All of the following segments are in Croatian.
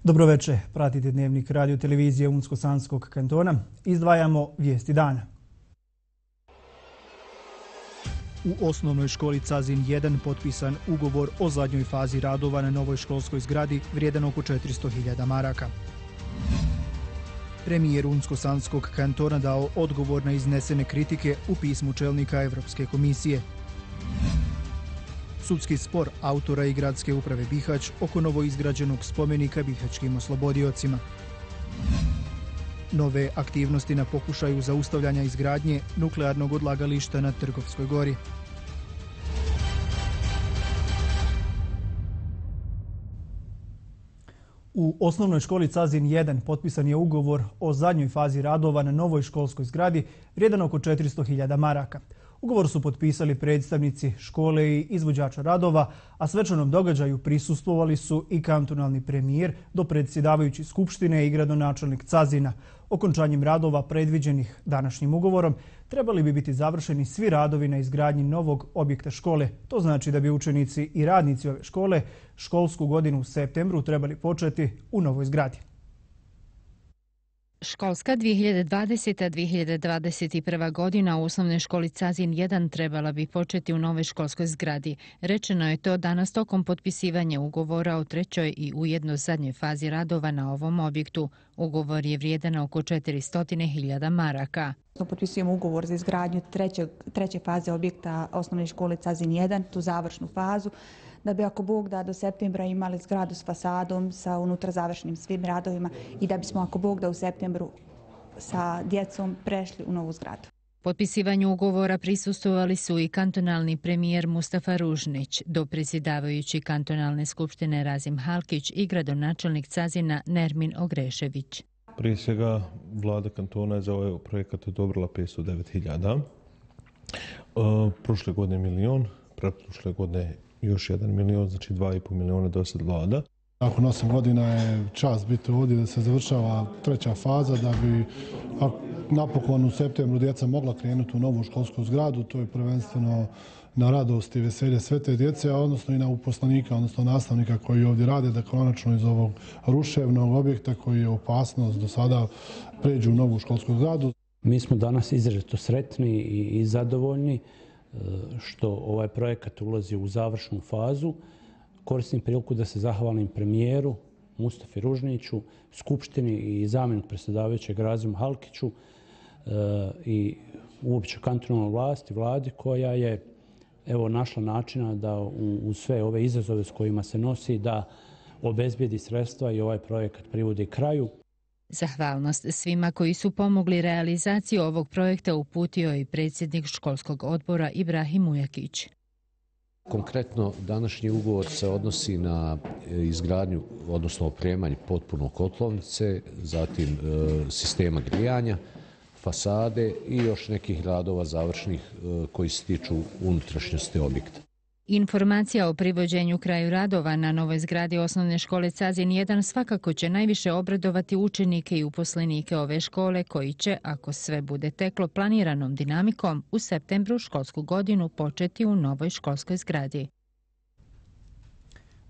Dobroveče, pratite Dnevnik radio televizije Unsko-Sanskog kantona. Izdvajamo vijesti dana. U osnovnoj školi Cazin 1 potpisan ugovor o zadnjoj fazi radova na novoj školskoj zgradi vrijedan oko 400.000 maraka. Premijer Unsko-Sanskog kantona dao odgovor na iznesene kritike u pismu čelnika Evropske komisije. Sudski spor autora i gradske uprave Bihać oko novoizgrađenog spomenika bihaćkim oslobodiocima. Nove aktivnosti na pokušaju zaustavljanja izgradnje nuklearnog odlagališta na Trgovskoj gori. U osnovnoj školi Cazin 1 potpisan je ugovor o zadnjoj fazi radova na novoj školskoj zgradi vrijedan oko 400.000 maraka. Ugovor su potpisali predstavnici škole i izvođača radova, a svečanom događaju prisustvovali su i kantonalni premijer, dopredsjedavajući skupštine i gradonačelnik Cazina. Okončanjem radova predviđenih današnjim ugovorom trebali bi biti završeni svi radovi na izgradnji novog objekta škole. To znači da bi učenici i radnici ove škole školsku godinu u septembru trebali početi u novoj zgradi. Školska 2020-2021. godina u osnovnoj školi Cazin 1 trebala bi početi u novoj školskoj zgradi. Rečeno je to danas tokom potpisivanja ugovora o trećoj i ujedno zadnjoj fazi radova na ovom objektu. Ugovor je vrijedan oko 400.000 maraka. Potpisujemo ugovor za izgradnju treće faze objekta osnovne škole Cazin 1, tu završnu fazu, da bi ako Bog da do septembra imali zgradu s fasadom, sa unutra završenim svim radovima i da bismo ako Bog da u septembru sa djecom prešli u novu zgradu. Potpisivanju ugovora prisustvovali su i kantonalni premijer Mustafa Ružnić, dopredsjedavajući kantonalne skupštine Razim Halkić i gradonačelnik Cazina Nermin Ogrešević. Prije svega, vlada kantona je za ovaj projekat odobrila 509.000. Prošle godine 1 milion, pretprošle godine još 1 milion, znači 2,5 miliona do sad vlada. Nakon 8 godina je čast biti ovdje da se završava treća faza, da bi napokon u septembru djeca mogla krenuti u novu školsku zgradu. To je prvenstveno na radost i veselje sve te djece, a odnosno i na uposlenika, odnosno nastavnika koji ovdje rade, da konačno iz ovog ruševnog objekta koji je opasnost do sada pređu u novu školsku zgradu. Mi smo danas izrazito sretni i zadovoljni što ovaj projekat ulazi u završnu fazu. Koristim priliku da se zahvalim premijeru Mustafi Ružniću, skupštini i zamjeniku predsjedavajućeg Razimu Halkiću i uopće kantonalnoj vlasti, vladi koja je našla načina da u sve ove izazove s kojima se nosi da obezbijedi sredstva i ovaj projekat privodi kraju. Zahvalnost svima koji su pomogli realizaciju ovog projekta uputio i predsjednik školskog odbora Ibrahim Ujakić. Konkretno, današnji ugovor se odnosi na izgradnju, odnosno opremanje potpuno kotlovnice, zatim sistema grijanja, fasade i još nekih radova završnih koji se tiču unutrašnjosti objekta. Informacija o privođenju kraju radova na novoj zgradi osnovne škole Cazin 1 svakako će najviše obradovati učenike i uposlenike ove škole koji će, ako sve bude teklo planiranom dinamikom, u septembru školsku godinu početi u novoj školskoj zgradi.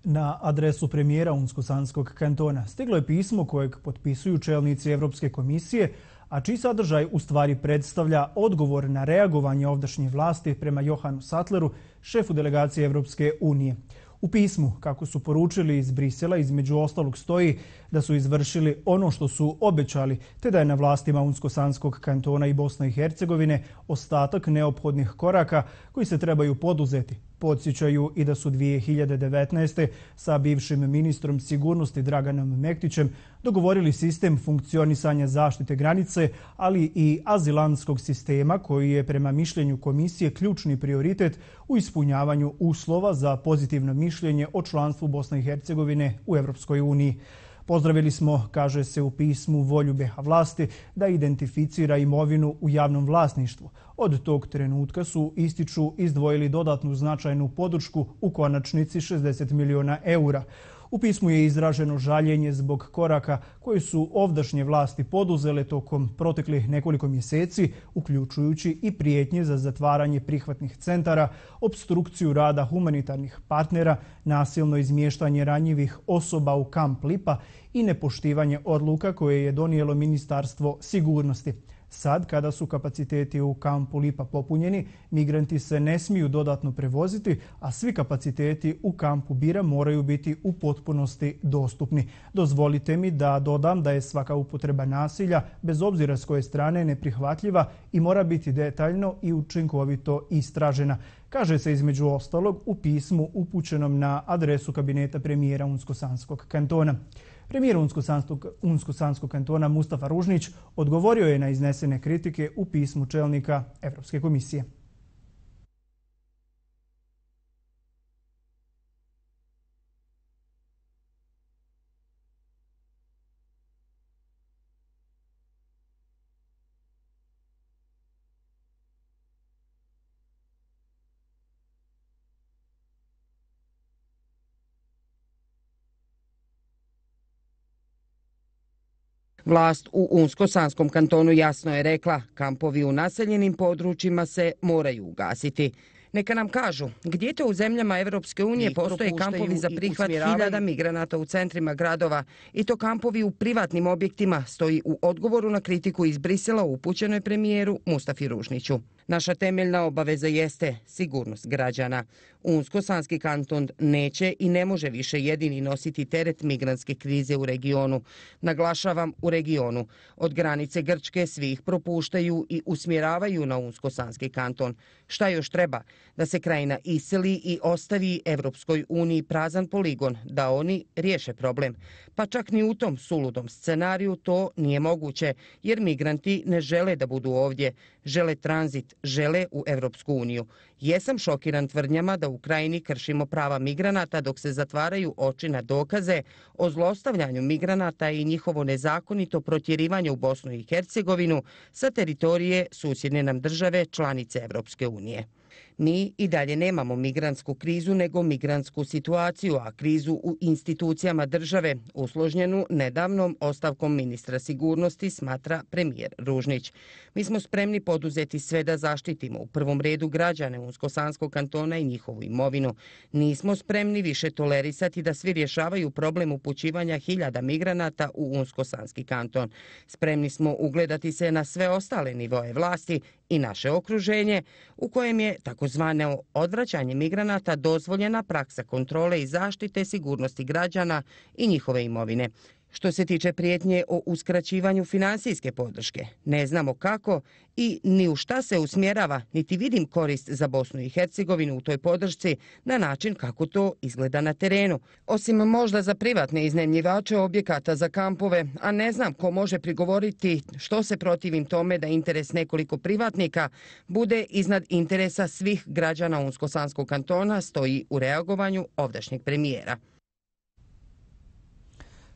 Na adresu premijera Unsko-Sanskog kantona stiglo je pismo kojeg potpisuju čelnici Evropske komisije, a čiji sadržaj u stvari predstavlja odgovor na reagovanje ovdašnje vlasti prema Johanu Sattleru, šefu delegacije Evropske unije. U pismu, kako su poručili iz Brisela, između ostalog stoji da su izvršili ono što su obećali, te da je na vlastima Unsko-Sanskog kantona i Bosne i Hercegovine ostatak neophodnih koraka koji se trebaju poduzeti. Podsjećaju i da su 2019. sa bivšim ministrom sigurnosti Draganom Mektićem dogovorili sistem funkcionisanja zaštite granice, ali i azilantskog sistema koji je prema mišljenju komisije ključni prioritet u ispunjavanju uslova za pozitivno mišljenje o članstvu Bosne i Hercegovine u Evropskoj uniji. Pozdravili smo, kaže se u pismu, volju BiH vlasti da identificira imovinu u javnom vlasništvu. Od tog trenutka su, ističu, izdvojili dodatnu značajnu podršku u konačnici 60 miliona eura. U pismu je izraženo žaljenje zbog koraka koji su ovdašnje vlasti poduzele tokom proteklih nekoliko mjeseci, uključujući i prijetnje za zatvaranje prihvatnih centara, opstrukciju rada humanitarnih partnera, nasilno izmještanje ranjivih osoba u kamp Lipa i nepoštivanje odluka koje je donijelo Ministarstvo sigurnosti. Sad, kada su kapaciteti u kampu Lipa popunjeni, migranti se ne smiju dodatno prevoziti, a svi kapaciteti u kampu Bira moraju biti u potpunosti dostupni. Dozvolite mi da dodam da je svaka upotreba nasilja, bez obzira s koje strane, neprihvatljiva i mora biti detaljno i učinkovito istražena. Kaže se između ostalog u pismu upućenom na adresu kabineta premijera Unsko-Sanskog kantona. Premijer Unsko-Sanskog kantona Mustafa Ružnić odgovorio je na iznesene kritike u pismu čelnika Evropske komisije. Vlast u Unsko-Sanskom kantonu jasno je rekla, kampovi u naseljenim područjima se moraju ugasiti. Neka nam kažu, gdje to u zemljama Evropske unije postoje kampovi za prihvat 1000 migranata u centrima gradova i to kampovi u privatnim objektima, stoji u odgovoru na kritiku iz Brisela upućenoj premijeru Mustafi Ružniću. Naša temeljna obaveza jeste sigurnost građana. Unsko-Sanski kanton neće i ne može više jedini nositi teret migrantske krize u regionu. Naglašavam, u regionu. Od granice Grčke svi ih propuštaju i usmjeravaju na Unsko-Sanski kanton. Šta još treba? Da se krajina iseli i ostavi Evropskoj uniji prazan poligon, da oni riješe problem. Pa čak ni u tom suludom scenariju to nije moguće, jer migranti ne žele da budu ovdje. Žele tranzit, žele u Evropsku uniju. Jesam šokiran tvrdnjama da u krajini kršimo prava migranata dok se zatvaraju oči na dokaze o zlostavljanju migranata i njihovo nezakonito protjerivanje u Bosnu i Hercegovinu sa teritorije susjedne nam države članice Evropske unije. Mi i dalje nemamo migrantsku krizu, nego migrantsku situaciju, a krizu u institucijama države, usložnjenu nedavnom ostavkom ministra sigurnosti, smatra premijer Ružnić. Mi smo spremni poduzeti sve da zaštitimo u prvom redu građane Unsko-Sanskog kantona i njihovu imovinu. Nismo spremni više tolerisati da svi rješavaju problem upućivanja 1000 migranata u Unsko-Sanski kanton. Spremni smo ugledati se na sve ostale nivoe vlasti i naše okruženje, u kojem je takozvano odvraćanje migranata dozvoljena praksa kontrole i zaštite sigurnosti građana i njihove imovine. Što se tiče prijetnje o uskraćivanju finansijske podrške, ne znamo kako i ni u šta se usmjerava, niti vidim korist za Bosnu i Hercegovinu u toj podršci na način kako to izgleda na terenu. Osim možda za privatne iznajmljivače objekata za kampove, a ne znam ko može prigovoriti što se protivim tome da interes nekoliko privatnika bude iznad interesa svih građana Unsko-Sanskog kantona, stoji u reagovanju ovdašnjeg premijera.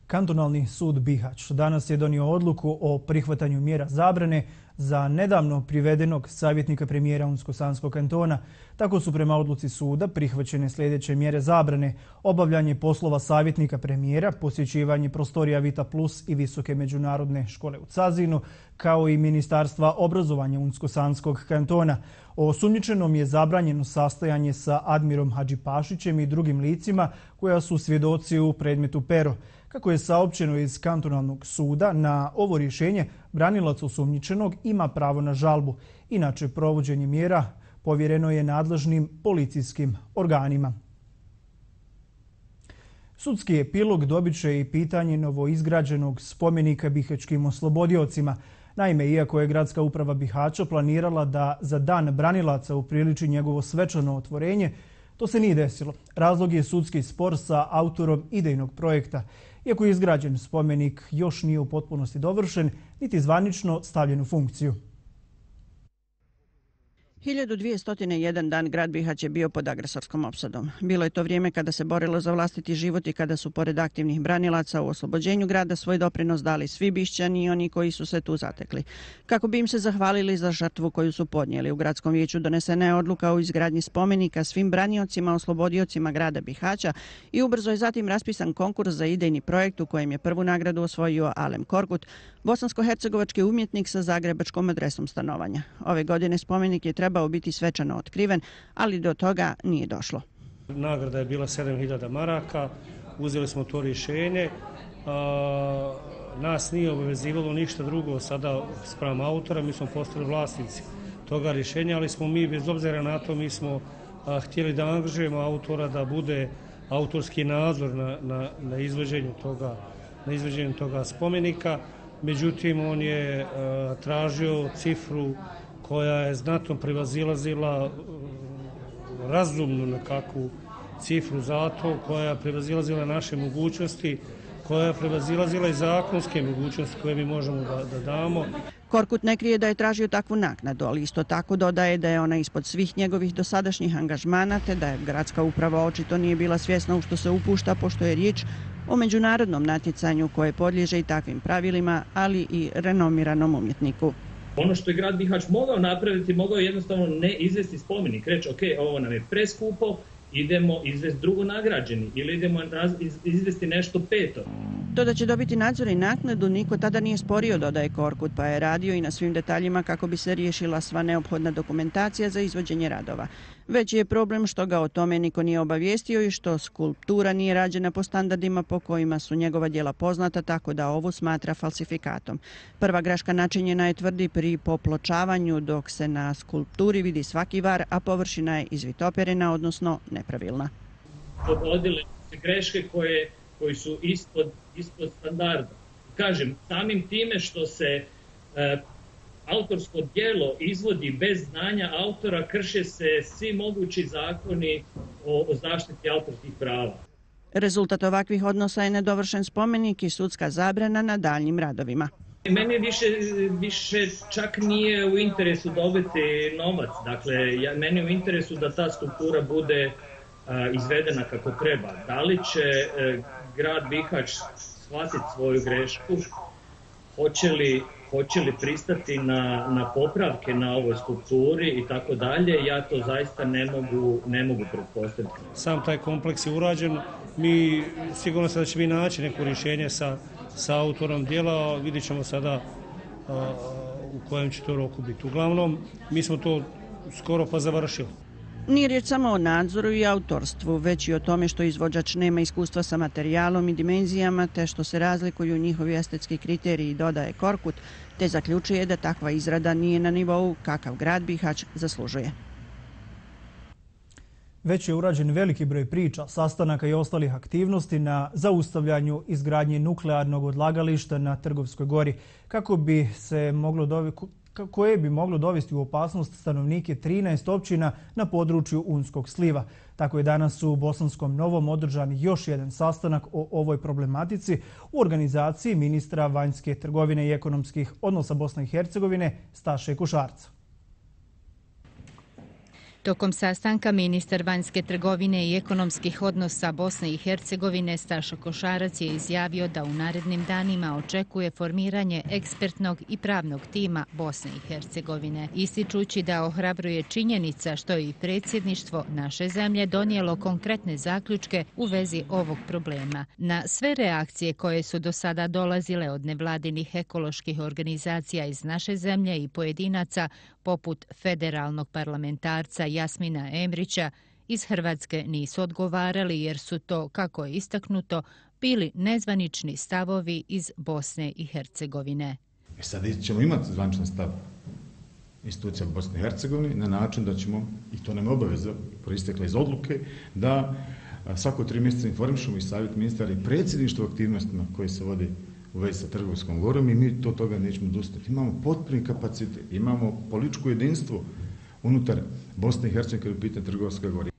Kantonalni sud Bihać danas je donio odluku o prihvatanju mjera zabrane za nedavno privedenog savjetnika premijera Unsko-Sanskog kantona. Tako su prema odluci suda prihvaćene sljedeće mjere zabrane: obavljanje poslova savjetnika premijera, posjećivanje prostorija Vita Plus i Visoke međunarodne škole u Cazinu, kao i Ministarstva obrazovanja Unsko-Sanskog kantona. Osumnjičenom je zabranjeno sastajanje sa Admirom Hadžipašićem i drugim licima koja su svjedoci u predmetu Pero. Kako je saopćeno iz kantonalnog suda, na ovo rješenje branilac osumnjičenog ima pravo na žalbu. Inače, provođenje mjera povjereno je nadležnim policijskim organima. Sudski epilog dobit će i pitanje novoizgrađenog spomenika bihaćkim oslobodiocima. Naime, iako je gradska uprava Bihaća planirala da za dan branilaca upriliči njegovo svečano otvorenje, to se nije desilo. Razlog je sudski spor sa autorom idejnog projekta. Iako je izgrađen, spomenik još nije u potpunosti dovršen, niti zvanično stavljen u funkciju. 1201 dan grad Bihać je bio pod agresorskom opsadom. Bilo je to vrijeme kada se borilo za vlastiti život i kada su pored aktivnih branilaca u oslobođenju grada svoj doprinos dali svi Bišćani i oni koji su se tu zatekli. Kako bi im se zahvalili za žrtvu koju su podnijeli, u gradskom vijeću donesena je odluka o izgradnji spomenika svim braniocima, oslobodiocima grada Bihaća i ubrzo je zatim raspisan konkurs za idejni projekt u kojem je prvu nagradu osvojio Alem Korkut, bosansko-hercegovački umjetnik sa zagrebačkom adresom stanovanja. Ove godine spomenik je trebao biti svečano otkriven, ali do toga nije došlo. Nagrada je bila 7.000 maraka, uzeli smo to rješenje. Nas nije obavezivalo ništa drugo sada spram autora, mi smo postali vlasnici toga rješenja, ali smo mi, bez obzira na to, mi smo htjeli da angažujemo autora da bude autorski nadzor na izvođenju toga spomenika. Međutim, on je tražio cifru koja je znatno prevazilazila razumnu nekakvu cifru za to, koja je prevazilazila naše mogućnosti, koja je prevazilazila i zakonske mogućnosti koje mi možemo da damo. Korkut ne krije da je tražio takvu naknadu, ali isto tako dodaje da je ona ispod svih njegovih dosadašnjih angažmana, te da je gradska uprava očito nije bila svjesna u što se upušta, pošto je riječ o međunarodnom natjecanju koje podliježe i takvim pravilima, ali i renomiranom umjetniku. Ono što je grad Bihać mogao napraviti, mogao je jednostavno ne izvesti spomenik, reći ok, ovo nam je preskupo, idemo izvesti drugo nagrađeni ili idemo izvesti nešto peto. To da će dobiti nadzor i naknadu niko tada nije sporio, dodaje Korkut, pa je radio i na svim detaljima kako bi se riješila sva neophodna dokumentacija za izvođenje radova. Veći je problem što ga o tome niko nije obavijestio i što skulptura nije rađena po standardima po kojima su njegova djela poznata, tako da ovu smatra falsifikatom. Prva greška načinjena je, tvrdi, pri popločavanju, dok se na skulpturi vidi svaki var, a površina je izvitoperena, odnosno nepravilna. Dogodile se greške koji su ispod standarda. Kažem, samim time što se autorsko djelo izvodi bez znanja autora, krše se svi mogući zakoni o zaštiti autorskih prava. Rezultat ovakvih odnosa je nedovršen spomenik i sudska zabrana na daljnjim radovima. Meni više čak nije u interesu dobiti novac. Dakle, meni je u interesu da ta skulptura bude izvedena kako treba. Da li će grad Bihać shvatiti svoju grešku? Hoće li pristati na popravke na ovoj skulpturi i tako dalje, ja to zaista ne mogu pretpostaviti. Sam taj kompleks je urađen, mi sigurno se da će mi naći neko rješenje sa autorom djela, vidjet ćemo sada u kojem će to roku biti. Uglavnom, mi smo to skoro pa završili. Nije riječ samo o nadzoru i autorstvu, već i o tome što izvođač nema iskustva sa materijalom i dimenzijama, te što se razlikuju njihovi estetski kriteriji, dodaje Korkut, te zaključuje da takva izrada nije na nivou kakav grad Bihać zaslužuje. Već je urađen veliki broj priča, sastanaka i ostalih aktivnosti na zaustavljanju izgradnje nuklearnog odlagališta na Trgovskoj gori, koje bi moglo dovesti u opasnost stanovnike 13 općina na području Unskog sliva. Tako je danas u Bosanskom Novom održan još jedan sastanak o ovoj problematici u organizaciji ministra vanjske trgovine i ekonomskih odnosa Bosne i Hercegovine Staše Košarca. Tokom sastanka ministar vanjske trgovine i ekonomskih odnosa Bosne i Hercegovine Stašo Košarac je izjavio da u narednim danima očekuje formiranje ekspertnog i pravnog tima Bosne i Hercegovine, ističući da ohrabruje činjenica što je i predsjedništvo naše zemlje donijelo konkretne zaključke u vezi ovog problema. Na sve reakcije koje su do sada dolazile od nevladinih ekoloških organizacija iz naše zemlje i pojedinaca, poput federalnog parlamentarca Jasmina Emrića, iz Hrvatske nisu odgovarali jer su to, kako je istaknuto, bili nezvanični stavovi iz Bosne i Hercegovine. Sad ćemo imati zvaničan stav institucija Bosne i Hercegovine na način da ćemo, i to nam je obaveza proistekla iz odluke, da svako 3 mjeseca informišemo i savjet ministara i predsjedništvo aktivnostima koje se vode u vezi sa Trgovskom gorom i mi to toga nećemo odustati. Imamo potpuni kapacitet, imamo političko jedinstvo unutar Bosne i Hercegovine kada je u pitanju Trgovska gora.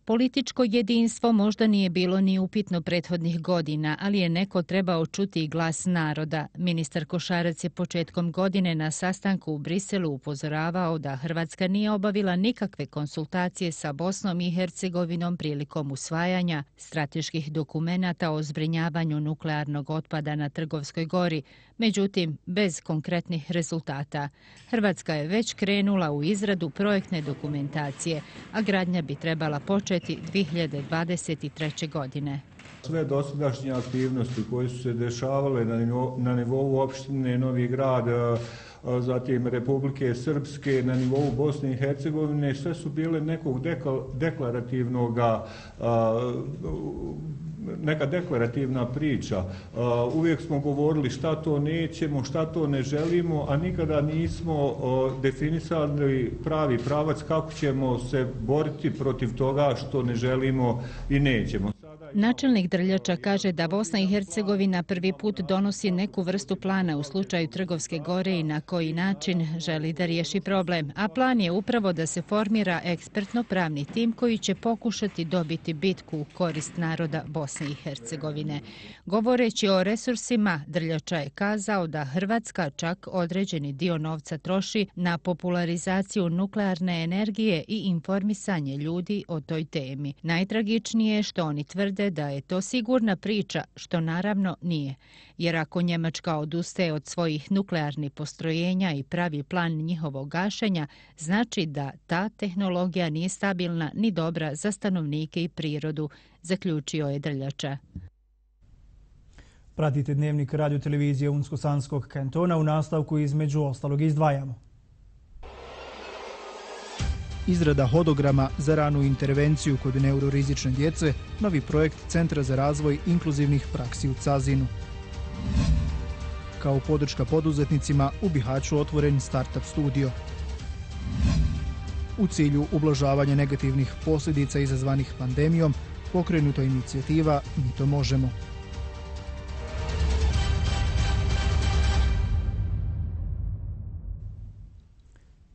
Političko jedinstvo možda nije bilo ni upitno prethodnih godina, ali je neko trebao čuti glas naroda. Ministar Košarac je početkom godine na sastanku u Briselu upozoravao da Hrvatska nije obavila nikakve konsultacije sa Bosnom i Hercegovinom prilikom usvajanja strateških dokumenata o zbrinjavanju nuklearnog otpada na Trgovskoj gori, međutim bez konkretnih rezultata. Hrvatska je već krenula u izradu projektne dokumentacije, a gradnja bi trebala početi 2023. godine. Sve dosadašnje aktivnosti koje su se dešavale na nivou opštine Novi Grad, zatim Republike Srpske, na nivou Bosne i Hercegovine, sve su bile nekog neka deklarativna priča. Uvijek smo govorili šta to nećemo, šta to ne želimo, a nikada nismo definisali pravi pravac kako ćemo se boriti protiv toga što ne želimo i nećemo. Načelnik Drljača kaže da Bosna i Hercegovina prvi put donosi neku vrstu plana u slučaju Trgovske gore i na koji način želi da riješi problem. A plan je upravo da se formira ekspertno-pravni tim koji će pokušati dobiti bitku u korist naroda Bosne i Hercegovine. Govoreći o resursima, Drljača je kazao da Hrvatska čak određeni dio novca troši na popularizaciju nuklearne energije i informisanje ljudi o toj temi. Najtragičnije je što oni tvrde da je to sigurna priča, što naravno nije. Jer ako Njemačka odustaje od svojih nuklearnih postrojenja i pravi plan njihovog gašenja, znači da ta tehnologija nije stabilna ni dobra za stanovnike i prirodu, zaključio je Drljača. Pratite dnevnik radiotelevizije Unsko-Sanskog kantona. U nastavku između ostalog izdvajamo. Izrada hodograma za ranu intervenciju kod neurorizične djece, novi projekt Centra za razvoj inkluzivnih praksi u Cazinu. Kao podrška poduzetnicima u Bihaću otvoren startup studio. U cilju ublažavanja negativnih posljedica izazvanih pandemijom pokrenuta inicijativa Mi to možemo.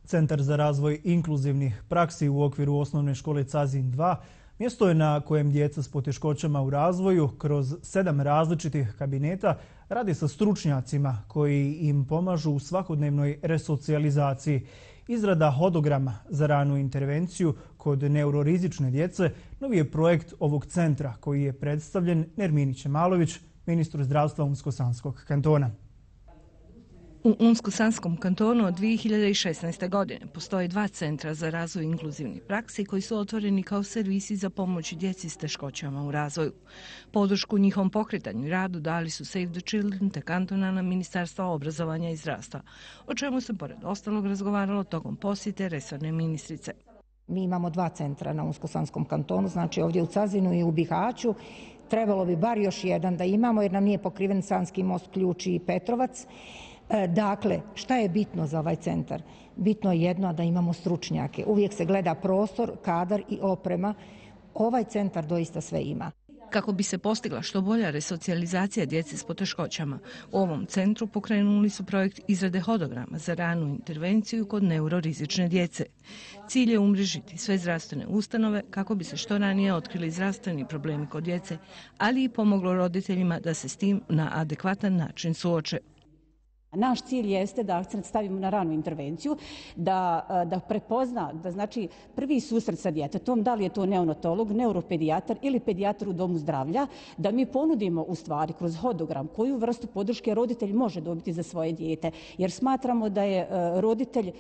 Centar za razvoj inkluzivnih praksi u okviru osnovne škole Cazin 2 mjesto je na kojem djeca s poteškoćama u razvoju kroz 7 različitih kabineta radi sa stručnjacima koji im pomažu u svakodnevnoj resocijalizaciji. Izrada hodograma za ranu intervenciju kod neurorizične djece novi je projekt ovog centra koji je predstavljen Nermini Čemalović, ministru zdravstva Unsko-Sanskog kantona. U Unsko-Sanskom kantonu od 2016. godine postoje 2 centra za razvoj inkluzivnih praksi koji su otvoreni kao servisi za pomoć djeci s teškoćama u razvoju. Podršku njihovom pokretanju i radu dali su Save the Children te kantonalna ministarstva obrazovanja i zdravstva, o čemu se pored ostalog razgovaralo tokom posjete resorne ministrice. Mi imamo 2 centra na Unsko-Sanskom kantonu, znači ovdje u Cazinu i u Bihaću. Trebalo bi bar još jedan da imamo jer nam nije pokriven Sanski most, Ključ i Petrovac. Dakle, šta je bitno za ovaj centar? Bitno je jedno da imamo stručnjake. Uvijek se gleda prostor, kadar i oprema. Ovaj centar doista sve ima. Kako bi se postigla što bolja resocijalizacija djece s poteškoćama, u ovom centru pokrenuli su projekt izrade hodograma za ranu intervenciju kod neurorizične djece. Cilj je umrežiti sve zdravstvene ustanove kako bi se što ranije otkrili zdravstveni problemi kod djece, ali i pomoglo roditeljima da se s tim na adekvatan način suoče. Naš cilj jeste da akcent stavimo na ranu intervenciju, da prepozna, da znači prvi susret sa djetetom, da li je to neonatolog, neuropedijatar ili pedijatar u domu zdravlja, da mi ponudimo u stvari kroz hodogram koju vrstu podrške roditelj može dobiti za svoje dijete. Jer smatramo da je roditelj,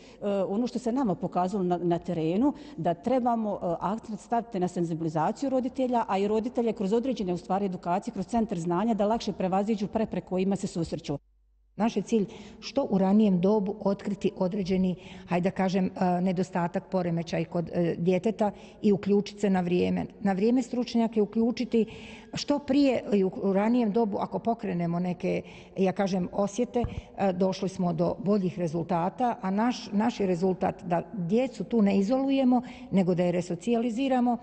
ono što se nama pokazalo na terenu, da trebamo akcent staviti na senzibilizaciju roditelja, a i roditelje kroz određene u stvari edukacije, kroz centar znanja da lakše prevaziđu prepreke kojima se susreću. Naš je cilj što u ranijem dobu otkriti određeni, hajde da kažem, nedostatak, poremećaj kod djeteta i uključiti se na vrijeme. Na vrijeme stručnjake uključiti što prije i u ranijem dobu ako pokrenemo neke, ja kažem, osjete, došli smo do boljih rezultata, a naš je rezultat da djecu tu ne izolujemo, nego da je resocijaliziramo.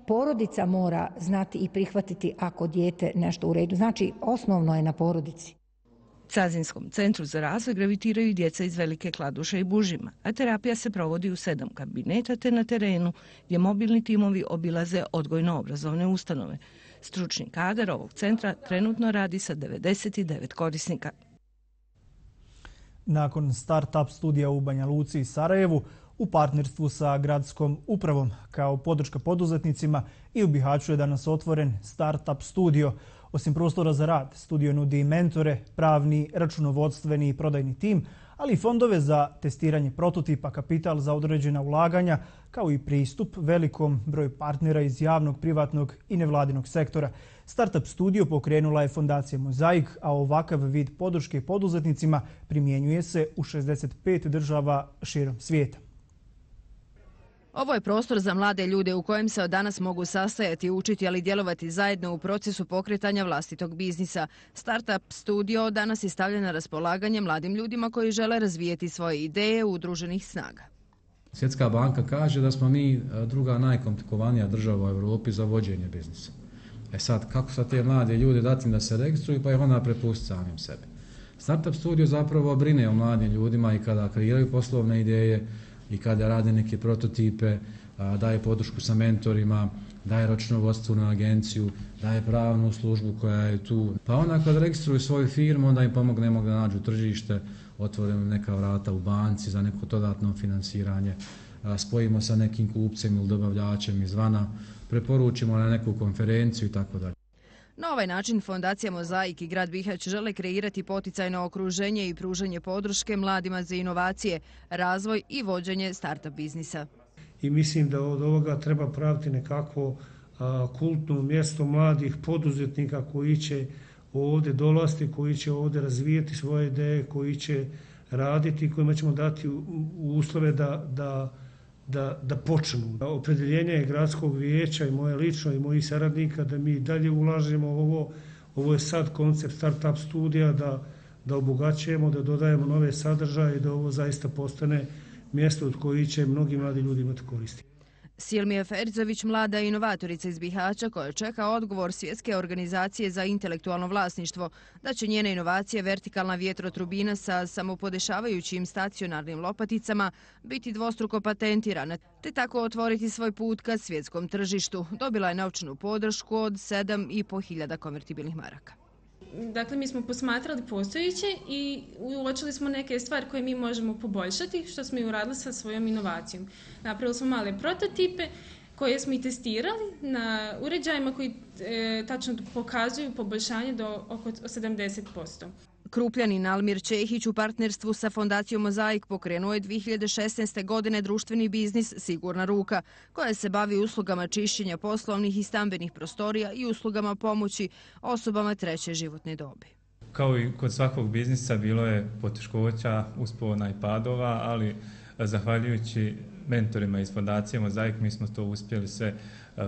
Porodica mora znati i prihvatiti ako dijete nešto u redu. Znači, osnovno je na porodici. Cazinskom centru za razvoj gravitiraju djeca iz Velike Kladuše i Bužima, a terapija se provodi u 7 kabineta te na terenu gdje mobilni timovi obilaze odgojno-obrazovne ustanove. Stručni kadar ovog centra trenutno radi sa 99 korisnika. Nakon start-up studija u Banja Luci i Sarajevu, u partnerstvu sa gradskom upravom kao podrška poduzetnicima i u Bihaću je danas otvoren start-up studio. Osim prostora za rad, studio nudi mentore, pravni, računovodstveni i prodajni tim, ali i fondove za testiranje prototipa, kapital za određena ulaganja, kao i pristup velikom broju partnera iz javnog, privatnog i nevladinog sektora. Startup studio pokrenula je fondacija Mozaik, a ovakav vid podrške poduzetnicima primjenjuje se u 65 država širom svijeta. Ovo je prostor za mlade ljude u kojem se od danas mogu sastajati, učiti, ali djelovati zajedno u procesu pokretanja vlastitog biznisa. Startup studio danas je stavljen na raspolaganje mladim ljudima koji žele razvijeti svoje ideje udruženih snaga. Svjetska banka kaže da smo mi druga najkomplikovanija država u Europi za vođenje biznisa. Sad, kako sad te mlade ljude dati da se registruju pa ih onda prepustiti samim sebi. Startup studio zapravo brine o mladim ljudima i kada kreiraju poslovne ideje, i kada rade neke prototipe, daje podršku sa mentorima, daje računovodstvenu agenciju, daje pravnu službu koja je tu. Pa onda kad registruju svoju firmu, onda im pomognemo da nađu tržište, otvorimo neka vrata u banci za neko dodatno finansiranje, spojimo sa nekim kupcem ili dobavljačem izvana, preporučimo na neku konferenciju i tako dalje. Na ovaj način Fondacija Mozaik i grad Bihać žele kreirati poticajno okruženje i pružanje podrške mladima za inovacije, razvoj i vođenje startup biznisa. I mislim da od ovoga treba praviti nekakvo kultno mjesto mladih poduzetnika koji će ovdje dolaziti, koji će ovdje razvijati svoje ideje, koji će raditi, kojima ćemo dati uslove da počnu. Opredjeljenje je gradskog vijeća i moje lično i mojih saradnika da mi dalje ulažemo ovo je sad koncept startup studija, da obogaćujemo, da dodajemo nove sadržaje i da ovo zaista postane mjesto od koji će mnogi mladi ljudi imati koristi. Silmija Ferzović, mlada inovatorica iz Bihaća koja čeka odgovor Svjetske organizacije za intelektualno vlasništvo, da će njene inovacije vertikalna vjetrotrubina sa samopodešavajućim stacionarnim lopaticama biti dvostruko patentirana, te tako otvoriti svoj put ka svjetskom tržištu. Dobila je novčanu podršku od 7.500 konvertibilnih maraka. Dakle, mi smo posmatrali postojeće i uočili smo neke stvari koje mi možemo poboljšati, što smo i uradili sa svojom inovacijom. Napravili smo male prototipe koje smo i testirali na uređajima koji tačno pokazuju poboljšanje do oko 70%. Krupljanin Almir Čehić u partnerstvu sa Fondacijom Mozaik pokrenuo je 2016. godine društveni biznis Sigurna ruka, koja se bavi uslugama čišćenja poslovnih i stambenih prostorija i uslugama pomoći osobama treće životne dobi. Kao i kod svakog biznisa bilo je poteškoća, uspona i padova, ali zahvaljujući mentorima iz Fondacije Mozaik mi smo to uspjeli sve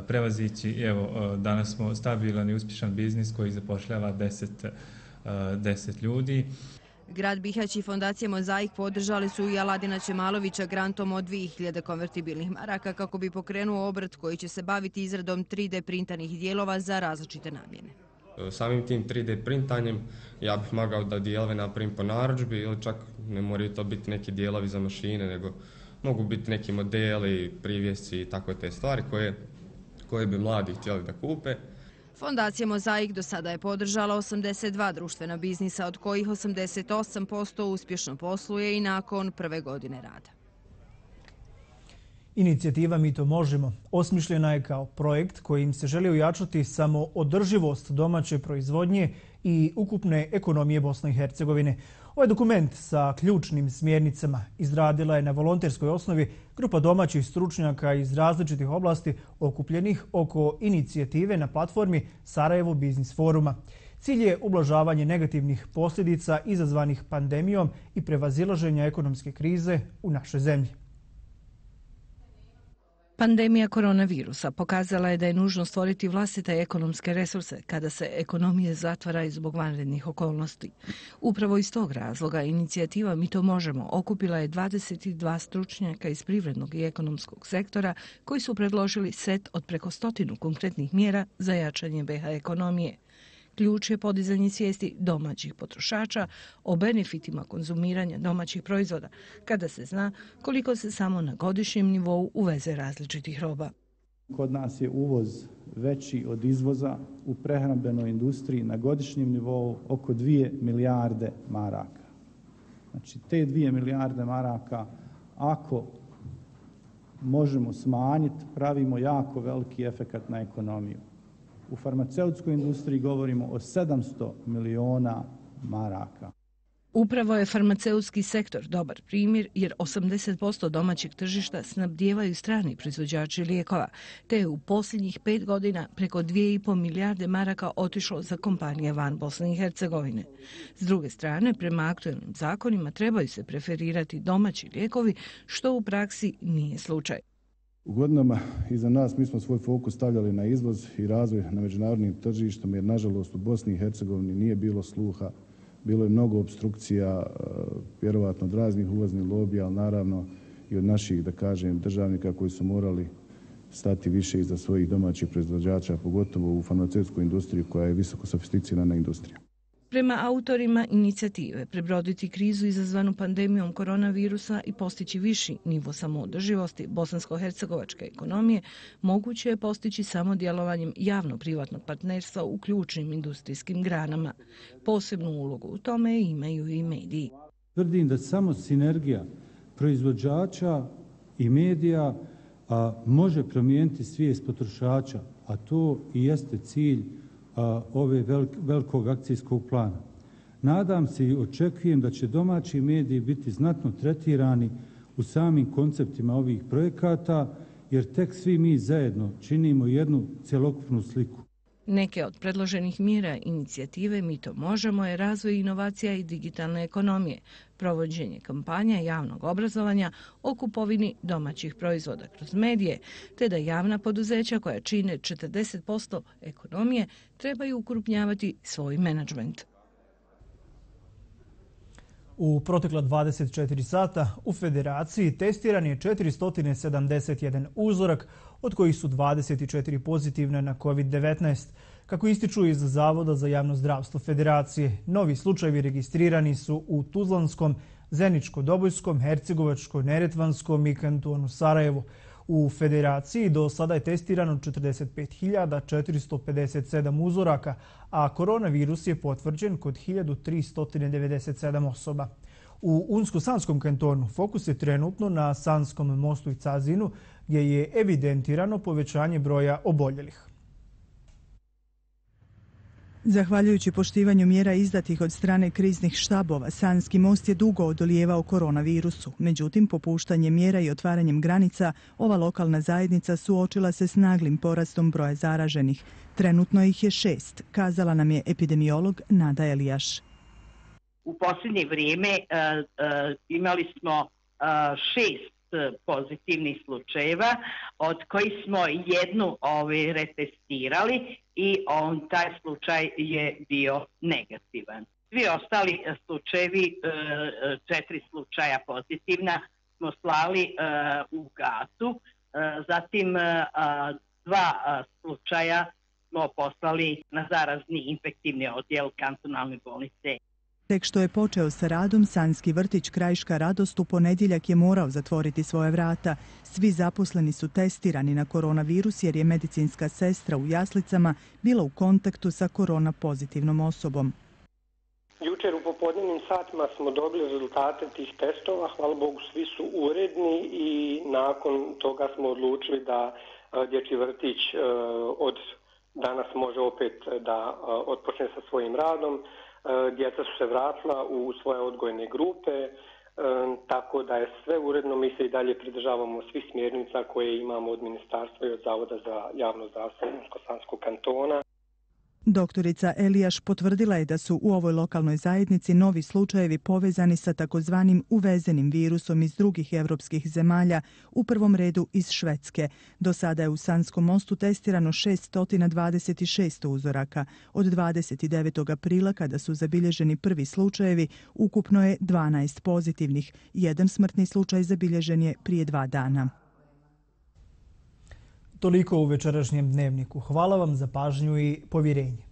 prevazići. Evo, danas smo stabilan i uspješan biznis koji zapošljava 10 ljudi. Grad Bihać i Fondacija Mozaik podržali su i Aladina Čemalovića grantom od 2000 konvertibilnih maraka kako bi pokrenuo obrt koji će se baviti izradom 3D printanih dijelova za različite namjene. Samim tim 3D printanjem ja bih mogao da dijelove napravim po narudžbi ili čak ne moraju to biti neki dijelovi za mašine, nego mogu biti neki modeli, privjesci i tako te stvari koje bi mladi htjeli da kupe. Fondacija Mozaik do sada je podržala 82 društvena biznisa, od kojih 88% uspješno posluje i nakon prve godine rada. Inicijativa Mi to možemo osmišljena je kao projekt kojim se želi ojačati samo održivost domaće proizvodnje i ukupne ekonomije Bosne i Hercegovine. Ovaj dokument sa ključnim smjernicama izradila je na volonterskoj osnovi grupa domaćih stručnjaka iz različitih oblasti okupljenih oko inicijative na platformi Sarajevo Biznis foruma. Cilj je ublažavanje negativnih posljedica izazvanih pandemijom i prevazilaženja ekonomske krize u našoj zemlji. Pandemija koronavirusa pokazala je da je nužno stvoriti vlastite ekonomske resurse kada se ekonomije zatvaraju zbog vanrednih okolnosti. Upravo iz tog razloga inicijativa Mi to možemo okupila je 22 stručnjaka iz privrednog i ekonomskog sektora koji su predložili set od preko 100 konkretnih mjera za jačanje BiH ekonomije. Ključ je podizanje svijesti domaćih potrošača o benefitima konzumiranja domaćih proizvoda, kada se zna koliko se samo na godišnjem nivou uveze različitih roba. Kod nas je uvoz veći od izvoza u prehrambenoj industriji na godišnjem nivou oko 2 milijarde maraka. Znači, te 2 milijarde maraka, ako možemo smanjiti, pravimo jako veliki efekat na ekonomiju. U farmaceutskoj industriji govorimo o 700 miliona maraka. Upravo je farmaceutski sektor dobar primjer jer 80% domaćeg tržišta snabdijevaju strani proizvođači lijekova, te je u posljednjih 5 godina preko 2,5 milijarde maraka otišlo za kompanije van Bosne i Hercegovine. S druge strane, prema aktualnim zakonima trebaju se preferirati domaći lijekovi, što u praksi nije slučaj. U godinama iza nas mi smo svoj fokus stavljali na izvoz i razvoj na međunarodnim tržištima jer nažalost u Bosni i Hercegovini nije bilo sluha. Bilo je mnogo opstrukcija, vjerovatno od raznih uvoznih lobija, ali naravno i od naših, da kažem, državnika koji su morali stati više iza svojih domaćih proizvođača, pogotovo u farmaceutskoj industriji koja je visoko sofisticirana industrija. Prema autorima inicijative prebroditi krizu izazvanu pandemijom koronavirusa i postići viši nivo samoodrživosti bosansko-hercegovačke ekonomije moguće je postići samo djelovanjem javno-privatnog partnerstva u ključnim industrijskim granama. Posebnu ulogu u tome imaju i mediji. Tvrdim da samo sinergija proizvođača i medija može promijeniti svijest potrošača, a to i jeste cilj ove velikog akcijskog plana. Nadam se i očekujem da će domaći mediji biti znatno tretirani u samim konceptima ovih projekata, jer tek svi mi zajedno činimo jednu cjelokupnu sliku. Neke od predloženih mjera inicijative Mi to možemo je razvoj inovacija i digitalne ekonomije, provođenje kampanja javnog obrazovanja o kupovini domaćih proizvoda kroz medije, te da javna poduzeća koja čine 40% ekonomije trebaju ukrupnjavati svoj menadžment. U protekla 24 sata u Federaciji testiran je 471 uzorak, od kojih su 24 pozitivne na COVID-19. Kako ističu iz Zavoda za javno zdravstvo Federacije, novi slučajevi registrirani su u Tuzlanskom, Zeničko-Dobojskom, Hercegovačko-Neretvanskom i kantonu Sarajevo. U Federaciji do sada je testirano 45.457 uzoraka, a koronavirus je potvrđen kod 1397 osoba. U Unsko-Sanskom kantonu fokus je trenutno na Sanskom mostu i Cazinu, gdje je evidentirano povećanje broja oboljelih. Zahvaljujući poštivanju mjera izdatih od strane kriznih štabova, Sanski most je dugo odolijevao koronavirusu. Međutim, popuštanjem mjera i otvaranjem granica, ova lokalna zajednica suočila se s naglim porastom broja zaraženih. Trenutno ih je 6, kazala nam je epidemiolog Nada Elijaš. U posljednje vrijeme imali smo 6 pozitivnih slučajeva, od kojih smo jednu retestirali i taj slučaj je bio negativan. Svi ostali slučajevi, 4 slučaja pozitivna, smo slali u Gazu, zatim 2 slučaja smo poslali na zarazni infektivni odjel kantonalne bolnice. Tek što je počeo sa radom, Sanski vrtić Krajiška radost u ponedjeljak je morao zatvoriti svoje vrata. Svi zaposleni su testirani na koronavirus jer je medicinska sestra u jaslicama bila u kontaktu sa korona pozitivnom osobom. Jučer u popodnevnim satima smo dobili rezultate tih testova, hvala Bogu svi su uredni i nakon toga smo odlučili da dječji vrtić od danas može opet da otpočne sa svojim radom. Djeca su se vratila u svoje odgojne grupe, tako da je sve uredno. Mi se i dalje pridržavamo svih smjernica koje imamo od ministarstva i od Zavoda za javno zdravstvo Unsko-Sanskog kantona. Doktorica Elijaš potvrdila je da su u ovoj lokalnoj zajednici novi slučajevi povezani sa takozvanim uvezenim virusom iz drugih evropskih zemalja, u prvom redu iz Švedske. Do sada je u Sanskom mostu testirano 626 uzoraka. Od 29. aprila, kada su zabilježeni prvi slučajevi, ukupno je 12 pozitivnih. Jedan smrtni slučaj zabilježen je prije 2 dana. Toliko u večerašnjem dnevniku. Hvala vam za pažnju i povjerenje.